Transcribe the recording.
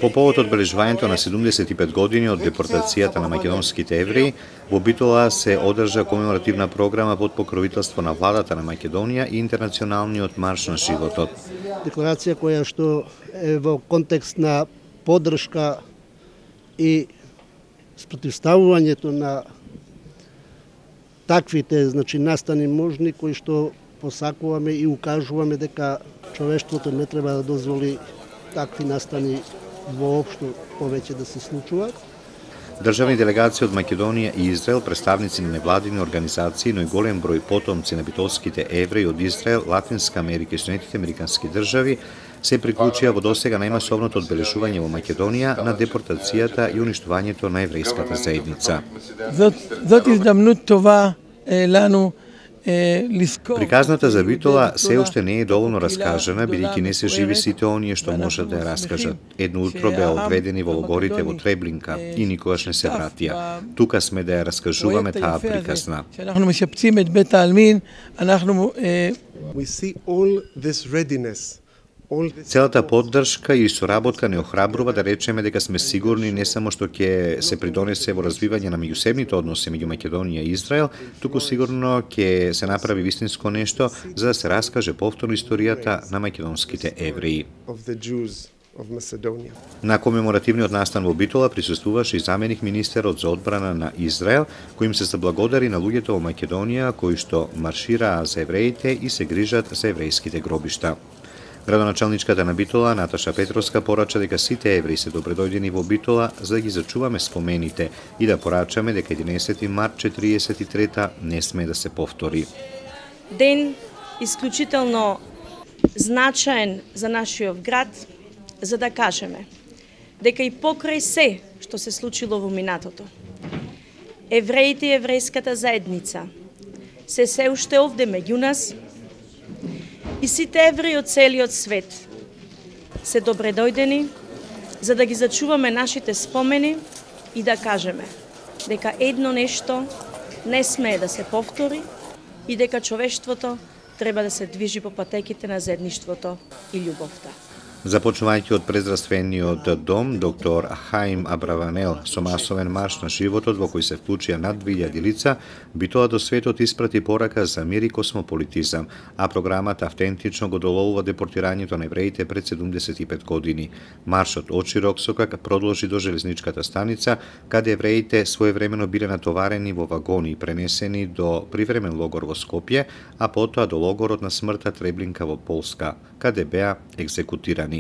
По повод одбележувањето на 75 години од депортацијата на македонските евреи, во Битола се одржа комеморативна програма под покровителство на владата на Македонија и Интернационалниот марш на животот. Декларација која што е во контекст на поддршка и спротивставувањето на таквите настани можни кои што посакуваме и укажуваме дека човештвото не треба да дозволи такви настани воопшто повеќе да се случуваат. Државни делегации од Македонија и Израел, представници на невладини организации, но и голем број потомци на битолските евреи од Израел, Латинска Америка и Соединетите американски држави се приклучија во досега најмасовното одбележување во Македонија на депортацијата и уништувањето на еврејската заедница. Приказната за Битола се уште не е доволно раскажана, бидејќи не се живи сите оние што можат да ја раскажат. Едно утро беа одведени во логорите во Треблинка и никогаш не се вратија. Тука сме да ја раскажуваме таа приказна. Целата поддршка и соработка не охрабрува да речеме дека сме сигурни не само што ќе се придонесе во развивање на меѓусебните односи меѓу Македонија и Израел, туку сигурно ќе се направи вистинско нешто за да се раскаже повторно историјата на македонските евреи. На комеморативниот настан во Битола присуствуваше и заменик министерот за одбрана на Израел, кој им се заблагодари на луѓето во Македонија кои што маршираа за евреите и се грижат за еврејските гробишта. Градоначалничката на Битола, Наташа Петровска, порача дека сите евреи се добредојдени во Битола за да ги зачуваме спомените и да порачаме дека 11 март 43 не сме да се повтори. Ден исклучително значаен за нашиот град, за да кажеме дека и покрај се што се случило во минатото, евреите и еврејската заедница се уште овде меѓу нас и сите евреи од целиот свет се добредојдени за да ги зачуваме нашите спомени и да кажеме дека едно нешто не смее да се повтори и дека човештвото треба да се движи по патеките на заедништвото и љубовта. Започнувајќи од презраствениот дом, доктор Хаим Абраванел со масовен марш на животот во кој се вклучија над 2000 лица, Битола до светот испрати порака за мир и космополитизам, а програмата автентично го доловува депортирањето на евреите пред 75 години. Маршот од Широксокак продолжи до железничката станица, каде евреите своевремено биле натоварени во вагони и пренесени до привремен логор во Скопје, а потоа до логорот на смртта Треблинка во Полска, каде беа екзекутирани.